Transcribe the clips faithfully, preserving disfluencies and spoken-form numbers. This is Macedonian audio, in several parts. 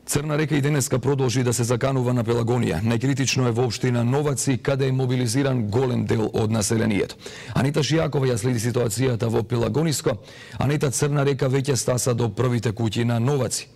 Црна река и денеска продолжи да се заканува на Пелагонија. Најкритично е во општина Новаци, каде е мобилизиран голем дел од населението. Анита Шијакова ја следи ситуацијата во Пелагониско. Анита, Црна река веќе стаса до првите куќи на Новаци.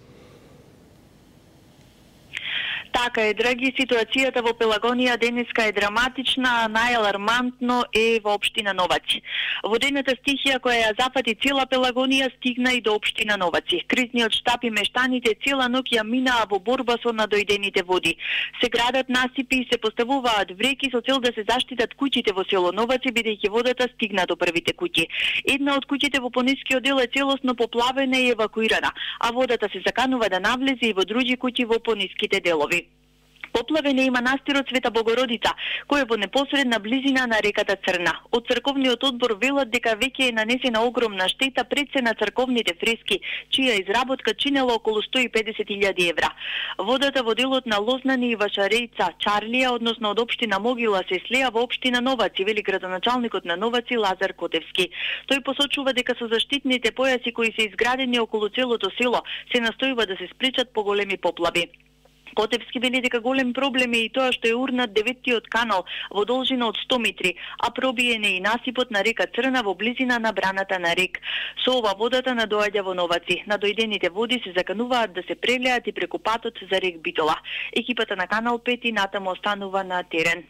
Така е, драги, ситуацијата во Пелагонија денеска е драматична, најалармантно е во општина Новаци. Водената стихија која ја зафати цела Пелагонија стигна и до општина Новаци. Кризниот штаб и мештаните цела ноќ ја минаа во борба со надојдените води. Се градат насипи и се поставуваат вреки со цел да се заштитат куќите во село Новаци, бидејќи водата стигна до првите куќи. Една од куќите во понискиот дел е целосно поплавена и евакуирана, а водата се заканува да навлезе и во други куќи во пониските делови. Поплавен е и манастирот Света Богородица, кој е во непосредна близина на реката Црна. Од црковниот одбор велат дека веќе е нанесена огромна штета пред се на црковните фрески, чија изработка чинела околу сто и педесет илјади евра. Водата во делот на Лознани и Вашарејца, Чарлија, односно од општина Могила, се слеа во општина Новаци, вели градоначалникот на Новаци Лазар Котевски. Тој посочува дека со заштитните појаси кои се изградени околу целото село се настојува да се спречат поголеми поплави. Котевски вели дека голем проблем е и тоа што е урнат деветтиот канал во должина од сто метри, а пробиен е и насипот на река Црна во близина на браната на рек. Со ова водата надоаѓа во Новаци. Надојдените води се закануваат да се прелеат и преку патот за рек Битола. Екипата на Канал пет и натаму останува на терен.